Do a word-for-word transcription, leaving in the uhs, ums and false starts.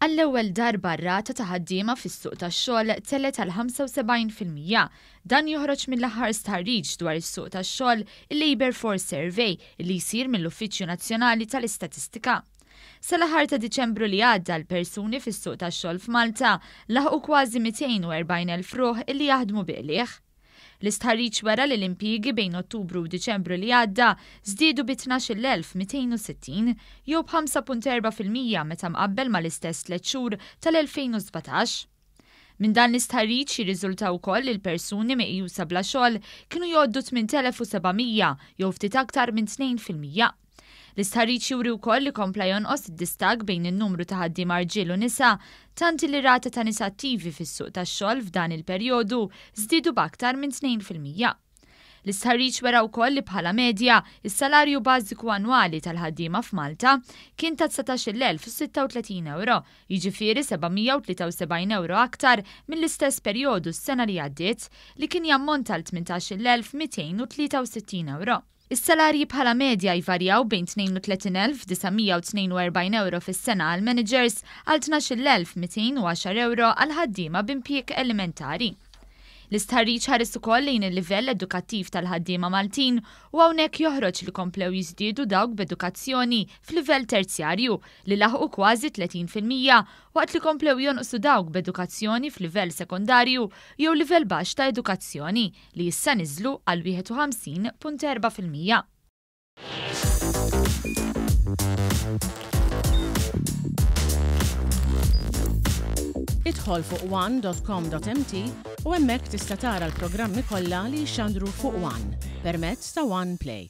Għall-ewwel darba r-rata ta' ħaddiema fis-suq tax-xogħol telgħet għal ħamsa u sebgħin fil-mija. Dan joħroġ mill-aħħar stħarriġ dwar is-suq tax-xogħol, il-Labour Force Survey, li jsir mill-Uffiċċju Nazzjonali tal-Istatistika. Sal-aħħar ta' Diċembru li għadda, l-persuni fis-suq tax-xogħol f'Malta laħqu kważi mitejn u erbgħin elf ruħ illi jaħdmu bi qligħ. L-istħarriġ wera li l-impjiegi bejn Ottubru u Diċembru li għadda żdiedu bi tnax-il elf mitejn u sittin jew b'ħamsa punt erbgħa fil-mija meta mqabbel mal-istess tliet xhur tal-elfejn u sbatax. Minn dan l-istħarriġ jirriżulta wkoll li l-persuni meqjusa bla xogħol kienu jgħoddu tmien telef u seba' mija jew ftit aktar minn tnejn fil-mija. L-istħarriġ juri wkoll li kompla jonqos id-distakk bejn in-numru ta' ħaddiema rġiel u nisa, tant li rata ta' nisa attivi fis-suq tax-xogħol f'dan il-perjodu żdiedu b'aktar minn tnejn fil-mija. L-istħarriġ wera wkoll li bħala medja is-salarju bażiku annwali tal-ħaddiema f'Malta kien ta' dsatax-il elf u sitta u tletin euro, jiġifieri seba' mija u tlieta u sebgħin euro aktar mill-istess perjodu s-sena li għaddiet, li kien jammonta għal tmintax-il elf mitejn u tlieta u sittin euro. Is-salarji bħala medja jvarjaw bejn tnejn u tletin elf disa' mija u tnejn u erbgħin euro fis-sena għal managers għal tnax-il elf mitejn u għaxar euro għal ħaddiema b'impjieg elementari. L-istħarriġ ħares ukoll lejn il-livell edukattiv tal-ħaddiema Maltin u hawnhekk joħroġ li komplew jiżdiedu dawk b'edukazzjoni f'livell terzjarju, li laħqu kważi tletin fil-mija, waqt li komplew jonqsu dawk b'edukazzjoni f'livell sekondarju jew livell baxx ta' edukazzjoni, li issa niżlu għal wieħed u ħamsin punt erbgħa fil-mija. Idħol fuq one dot com dot M T u hemmhekk tista' tara l-programmi kollha li jxandru fuq One permezz ta' One Play.